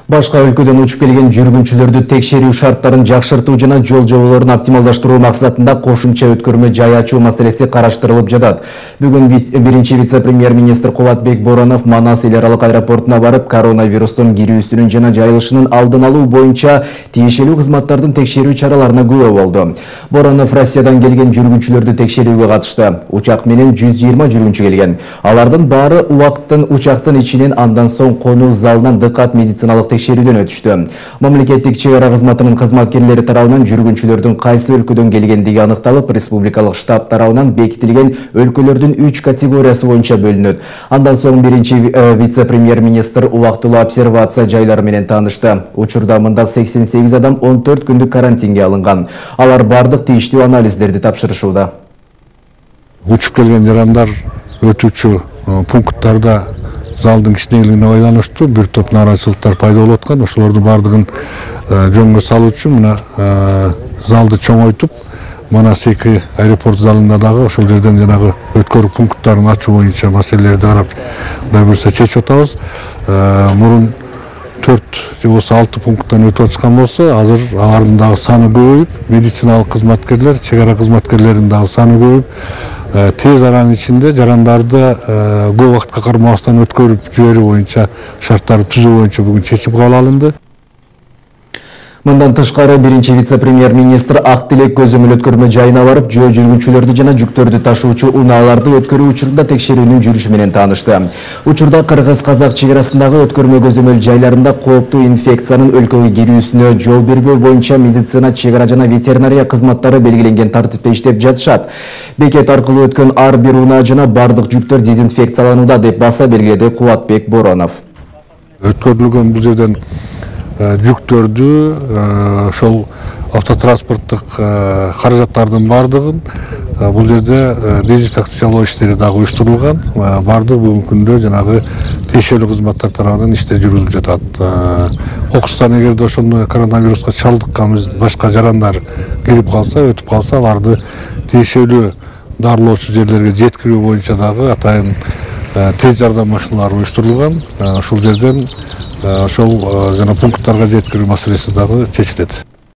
Башка өлкөдөн учуп келген жүргүнчүлөрдү текшерүү шарттарын жакшыртуу жана жол жоболорун оптималдаштыруу максатында кошумча өткөрмө жай ачуу маселеси караштырылып жатат. Бүгүн биринчи вице-премьер-министр Кубатбек Боронов Манас эл аралык аэропортуна барып, коронавирустун кирүүсүнүн жана жайылышынын алдын алуу боюнча тиешелүү кызматтардын текшерүү чараларына күбө болду. Боронов Россиядан келген жүргүнчүлөрдү текшерүүгө катышты. Учак менен 120 жүргүнчү келген. Алардын баары учактын ичинен, андан соң конуу залынан дыкат медициналык текшерүүдөн өтүштү. Мамлекеттик чек ара кызматынын кызматкерлери тарабынан жүргүнчүлөрдүн кайсы өлкөдөн келгендиги аныкталып, республикалык штаб тарабынан бекитилген өлкөлөрдүн 3 категориясы боюнча бөлүнөт. Андан соң биринчи вице-премьер-министр убактылуу обсервация жайлары менен таанышты. Учурда мында 88 адам 14 күндүк карантинге алынган. Алар бардык тийиштүү анализдерди тапшырышууда. Учуп келген жарандар өтүүчү пункттарда залдын кичинекилигине байланыштуу бир топ нааразычылыктар пайда болуп аткан. Ошолордун бардыгын жөнгө салуу үчүн мына залды чоңойтуп, Манас 2 аэропорт залында дагы ошол жерден жанагы өткөрүү пункттарын ачуу боюнча маселелерди карап, Кудай буйрса чечип атабыз. Мурун 4 же болбосо 6 пункттан өтүп атышкан болсо, азыр алардын дагы саны көбөйүп, медициналык кызматкерлер, чек ара кызматкерлеринин дагы саны көбөйүп, тез аранын ичинде жарандарды көп убакытка кармабастан өткөрүп жиберүү боюнча шарттарды түзүү боюнча бүгүн чечим кабыл алынды. Мындан тышкары биринчи вице-премьер-министр Ак Тилек көзөмөл өткөрмө жайына барып, жөө жүргүнчүлөрдү жана жүктөрдү ташуучу унааларды өткөрүү учурунда текшерүүнүн жүрүшү менен таанышты. Учурда кыргыз-казак чек арасындагы өткөрмө көзөмөл жайларында кооптуу инфекциянын өлкөгө кирүүсүнө жол бербөө боюнча медицина, чек ара жана ветеринария кызматтары белгиленген тартипте иштеп жатышат. Бекет аркылуу өткөн ар бир унаа жана бардык жүктөр дезинфекцияланууда, деп баса белгиледи Кубатбек Боронов. Өткөрүлгөн бул жерден жүктөрдү, ошол автотранспорттук каражаттардын бардыгын бул жерде дезинфекциялоо иштери дагы уюштурулган. Бардык бүгүнкү күндө жанагы тиешелүү кызматтар тарабынан иштер жүргүзүлүп жатат. Кокустан эгерде ошондой коронавируска чалдыккан башка жарандар кирип калса, өтүп калса, аларды тиешелүү дарылоочу жерлерге жеткирүү боюнча дагы атайын тез жардам машиналары уюштурулган. Ошол жерден ошол жана пункттарга жеткирүү маселеси дагы чечилет.